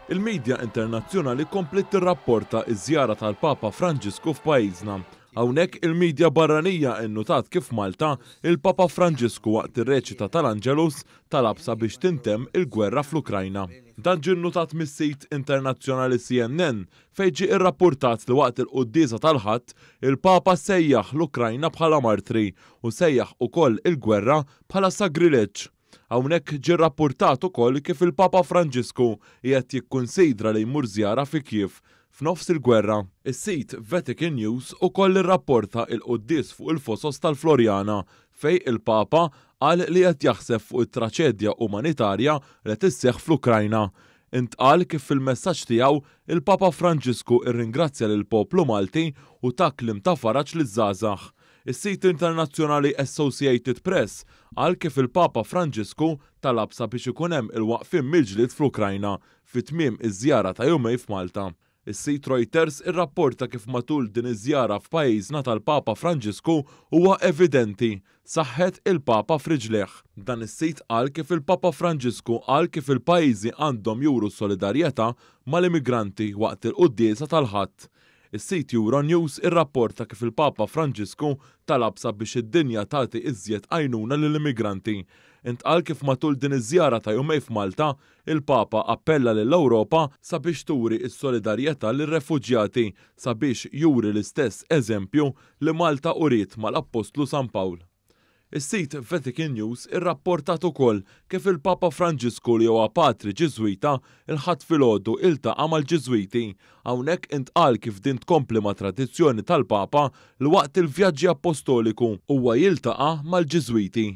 Il-midja internazzjonali kompliet tirrapporta ż-żjara tal-Papa Franġisku f'pajjiżna. Hawnhekk il-midja barranija innutat kif f'Malta, il-Papa Franġisku waqt ir-reċita tal-Angelus talab sabiex tintemm il-gwerra fl-Ukrajna. Dan ġie nnutat mis-sit internazzjonali CNN fejn ġie rrappurtat li waqt il-quddiesa tal-Ħadd, il-Papa sejjaħ l-Ukrajna bħala martri u sejjaħ ukoll il-gwerra bħala sagrileġġ. Hawnhekk ġie rrappurtat ukoll kif il-Papa Franġisku qiegħed jikkunsidra li jmur żjara fi Kiev f'nofs il-gwerra. Is-sit Vatican News ukoll irrapporta il-quddies fuq il-fosos tal-Floriana fejn il-Papa qal li qed jaħseb fuq it-traċedja umanitarja li qed isseħħ fl-Ukrajna. Intqal kif fil-messaġġ tiegħu, il-Papa Franġisku rringrazzja lill-poplu Malti u ta kliem ta' faraġ liż-żgħażagħ. Is-sit internazzjonali Associated Press qal kif il-Papa Franġisku talab sabiex ikun hemm il-waqfien mill-ġlied fl-Ukrajna fi tmiem iż-żjara ta' jumejn f'Malta. Is-sit Reuters irrapporta kif matul din iż-żjara f'pajjiżna tal-Papa Franġisku huwa evidenti saħħet il-Papa f'riġlejh. Dan is-sit qal kif il-Papa Franġisku qal kif il-pajjiżi għandhom juru solidarjetà mal-immigranti waqt il-quddiesa tal-Ħadd. Is-sit Euronews irrapporta kif il-Papa Franġisku talab sabiex id-dinja tagħti iżjed għajnuna lill-immigranti. Intqal kif matul din iż-żjara ta' jumejn f'Malta, il-Papa appella lill-Ewropa sabiex turi s-solidarjetà lir-refuġjati sabiex juri l-istess eżempju li Malta uriet mal-Appostlu San Pawl. Is-sit Vatican News irrapportat ukoll kif il-Papa Franġisku li huwa patri Ġiżwita, il-Ħadd filgħodu iltaqa' mal-Ġiżwiti. Hawnhekk intqal kif din tkompli ma' tradizzjoni tal-Papa li waqt il-vjaġġi appostoliku huwa jiltaqa' mal-Ġiżwiti.